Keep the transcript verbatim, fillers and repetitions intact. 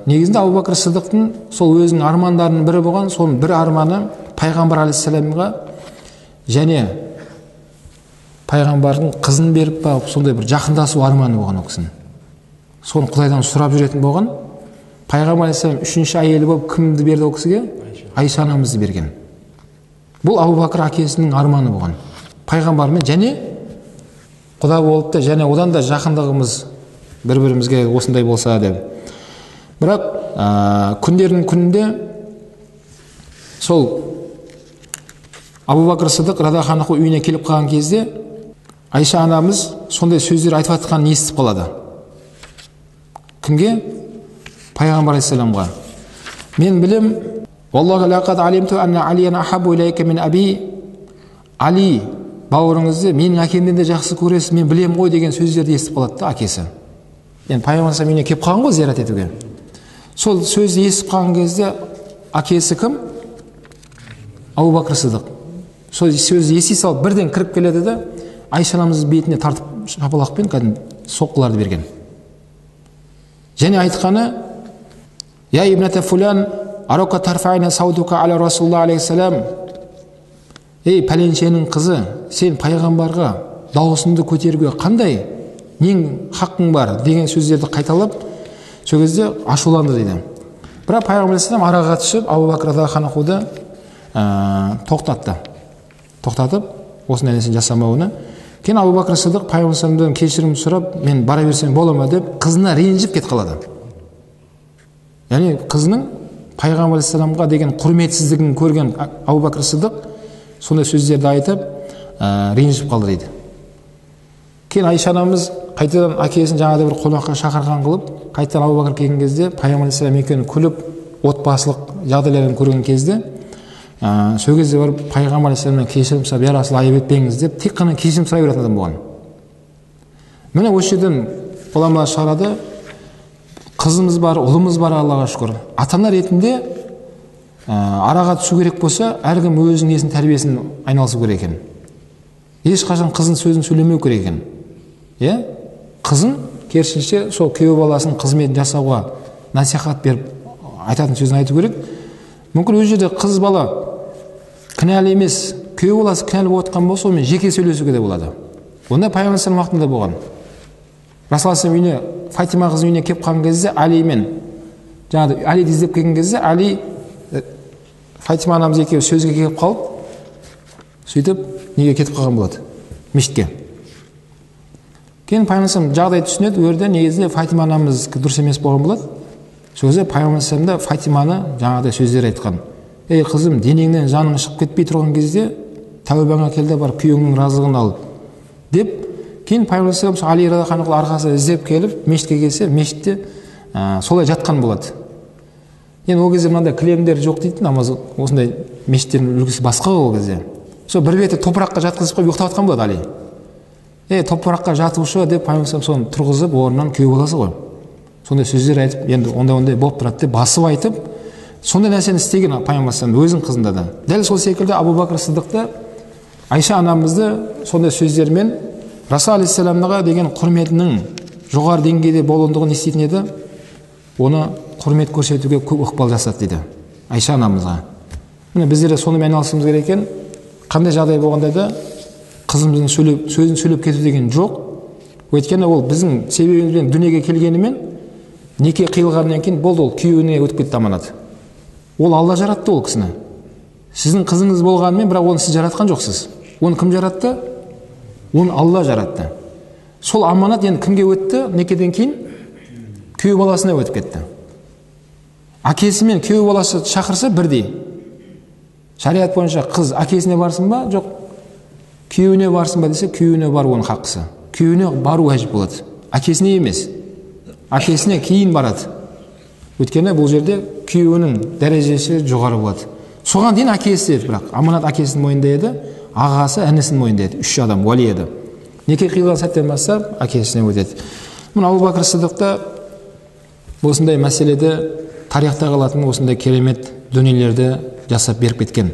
негизинде Абу Бакр Сыдыктын сол өзүнүн армандарынын бири болгон, сонун бир арманы пайгамбар алейхиссаламга және пайгамбардын кызын берип барып сондай бир жакындашуу арманы болгон ол кишинин. Сону Кудайдан сурап жүрөтүн болгон. Пайгамбар алейхиссалам үчүнчү айели болуп кимди берди ол кишиге? Айша анамызды берген. Бул Абу Бакр акесинин арманы болгон. Пайгамбар менен және Кудай болуп да, және одан да жакындыгыбыз бири-биримизге осындай болса деп. Бирок күндөрдүн күнүндө сол Абу Бакр Сыдык радиаллаху анху үйүнө келип калган кезде Айша анамыз сондай сөздөр айтып атканын естип калады. Кимге? Пайгамбар алейхиссаламга. Мен билем, валлахи лакад алимту анна алиян ахабу илейка мин аби. Али бауырыңызды менин акемден де жакшы көресиз, мен билем ғой деген сөздерди естип калат да акеси. Эми пайгамбар алейхиссалам үйүнө келип калган го зиярат этүүгө. Сол сөздү естип калган кезде акеси ким? Абу Бакр Сыдык. Сол сөздү эси салып бирден кирип келеді да Айша анамыздын бетине тартып шапалакпен кәдимги соккуларды берген. Және айтканы: "Я ибната фулан, арака тарфайна саудука аля Расулуллах алейхиссалам." Эй пәленшенин кызы, сен пайгамбарга даусыңды көтөрүүгө кандай нең хакың бар деген сөздерди кайталап, сол кезде ашуланды дейди. Бирок пайгамбар алейхиссалам арага катышып Абу Бакр радиаллаху анхуды токтатты. Токтатып, осындай нерсени жасамауына. Кейін Абу Бакр Сыдык пайгамбар алейхиссаламдан кеширим сурап, мен бара берсем бола ма деп кызына ренжип кетип калады. Яни кызынын пайгамбар алейхиссаламга деген курметсиздигин көрген Абу Бакр Сыдык сондай сөздерди айтып, ренжип калды дейди. Кейін Айша анамыз кайтадан акесин жаңада бир конокко шакырган кылып, кайтадан Абу Бакр келген кезде пайгамбар алейхиссалам экөөнү күлүп, отбасылык жагдайларын көргөн кезде сол кезде барып пайгамбар алейхиссаламдан кеширим сурап, "Я Расул, айып этпеңиз" деп тек кана кеширим сурай берген адам болгон. Мына ошол жерден уламалар чыгарады, кызымыз бар, улумуз бар, Аллага шүкүр. Ата-ана ретинде арага түшүү керек болса, ар ким өзүнүн несин тарбиесин айналышуу керек экен. Эч качан кыздын сөзүн сүйлөмөй керек экен. Э? Кызын керісінше сол күйөө баласынын кызметін жасауға насихат беріп айтатын сөзін айту керек. Мүмкін өз жерде қыз бала кінәлі емес, күйөө баласы кінәлі болып отқан болса, онымен жеке сөйлесуге де болады. Онда пайғамбар уақытында болған. Расул үйіне, Фатима қыздың үйіне келіп қалған кезде Али мен жаңағы Алиді іздеп келген кезде Али Фатима анамыз екеуі сөзге келіп қалып, сөйтіп неге кетіп қалған болады? Мешітке. Кейін пайғамбар жағдай түсінеді, өрде негізінде Фатима анамыз дұрыс емес болған болады. Сол кезде пайғамбар да Фатиманы жаңағыдай сөздер айтқан. Ей қызым, денеңнен жаның шығып кетпей тұрған кезде тәубаңа кел де барып күйеуіңнің разылығын ал деп, кейін пайғамбар Али радиаллаху арқасы іздеп келіп мешітке келсе, мешітте солай жатқан болады. Енді ол кезде мынандай кілемдер жоқ дейді, намаз осындай мешіттердің үлгісі басқа ол кезде. Сол бір беті топыраққа жатқызып қойып ұйықтап жатқан болады Али. Е, топыраққа жатушы деп пайғамбар соны тұрғызып, орнынан күйеу баласы ғой. Сондай сөздер айтып, енді ондай-ондай болып тұрады деп басып айтып, сондай нәрсені істеген пайғамбар өзінің қызында да. Дәл сол секілді Абу Бакр Сыдықты, Айша анамызды сондай сөздермен Расул алейхиссаламға деген құрметінің жоғары деңгейде болуындығын еститін еді, оны құрмет көрсетуге көп ықпал жасады дейді Айша анамызға. Міне біздер де сонымен айналысуымыз керек екен. Қандай жағдай болғанда да қызымыздың сөйлеп, сөзін сөйлеп кету деген жоқ. Өйткені ол біздің себебімізбен дүниеге келгенімен неке қиылғаннан кейін болды, ол күйеуіне өтіп кетті аманат. Ол Алла жаратты ол кісіні. Сіздің қызыңыз болғанымен, бірақ оны сіз жаратқан жоқсыз. Оны кім жаратты? Оны Алла жаратты. Сол аманат енді кімге өтті? Некеден кейін күйеу баласына өтіп кетті. Әкесі мен күйеу баласы шақырса бірдей. Шариғат бойынша қыз әкесіне барсын ба, жоқ күйеуіне барсын ба десе, күйеуіне бару оның хақысы. Күйеуіне бару әжіп болады. Әкесіне емес. Әкесіне кейін барады. Өйткені бұл жерде күйеуінің дәрежесі жоғары болады. Соған дейін әкесі еді, бірақ аманат әкесінің мойнында еді, ағасы інісінің мойнында еді, үш адам уәли еді. Неке қиылған сәттен бастап әкесіне өтеді. Мұны Абу Бакр Сыдықты осындай мәселеде тарихта қалатын осындай керемет дүниелерді жасап беріп кеткен.